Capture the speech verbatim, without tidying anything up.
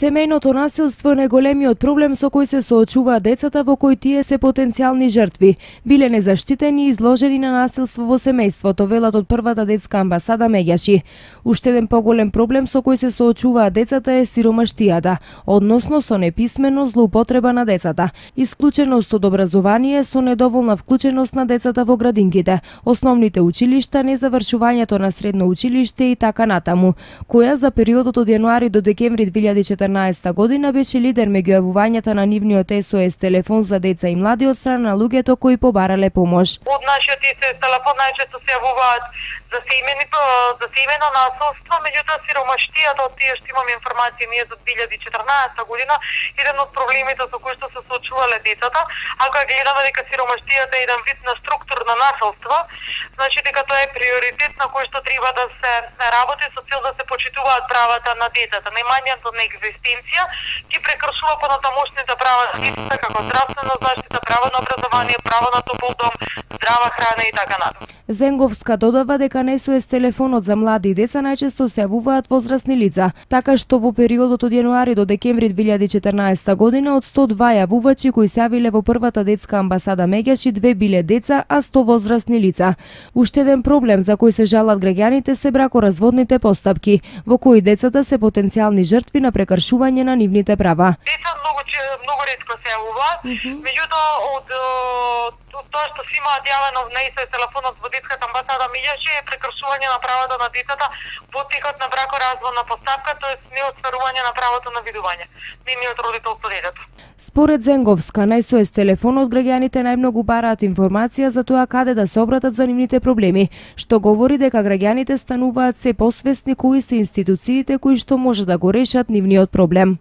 Семејното насилство е најголемиот проблем со кој се соочуваат децата во кој тие се потенцијални жртви. Биле незаштитени и изложени на насилство во семејството, велат од првата детска амбасада Меѓаши. Уште еден поголем проблем со кој се соочуваат децата е сиромаштијата, односно со неписменост, злоупотреба на децата, исклученост од образование со недоволна вклученост на децата во градинките, основните училишта, незавршувањето на средно училиште и така натаму, која за периодот од јануари до декември две илјади и четрнаесетта година беше лидер меѓу јавувањата на нивниот С О С телефон за деца и млади од страна на луѓето кои побарале помош. Од нашиот С О С телефон најчесто се јавуваат за семејното за семејно насилство, меѓутоа сиромаштијата, од тие што имаме информација ние за две илјади и четрнаесетта година, еден од проблемите со кои што се соочувале децата, ако ја гледаме дека сиромаштијата е еден вид на структурно насилство, значи дека тоа е приоритет на кој што треба да се работи со цел да се почитуваат правата на децата. Најмањето на екзистенција ги прекршува понатамошните права на децата, како здравствена заштита, право на образование, право на топол дом, здрава храна и така натаму. Зенговска додава дека на С О С телефонот за млади и деца најчесто се јавуваат возрастни лица, така што во периодот од јануари до декември две илјади и четрнаесетта година од сто два јавувачи кои се јавиле во првата детска амбасада Меѓаши, две биле деца, а сто возрастни лица. Уште еден проблем за кој се жалат граѓаните се бракоразводните постапки, во кои децата се потенцијални жртви на прекршување на нивните права. Деца многу многу ретко се јавуваат, меѓутоа од тоа што си имаат јавено на С О С телефонот во детската амбасада Меѓаши е прекршување на правата на децата во текот на бракоразводна постапка, тоест неостварување на правото на видување нивниот родител со детето. Според Зенговска, на С О С телефонот граѓаните најмногу бараат информација за тоа каде да се обратат за нивните проблеми, што говори дека граѓаните стануваат се посвесни кои се институциите кои што може да го решат нивниот проблем.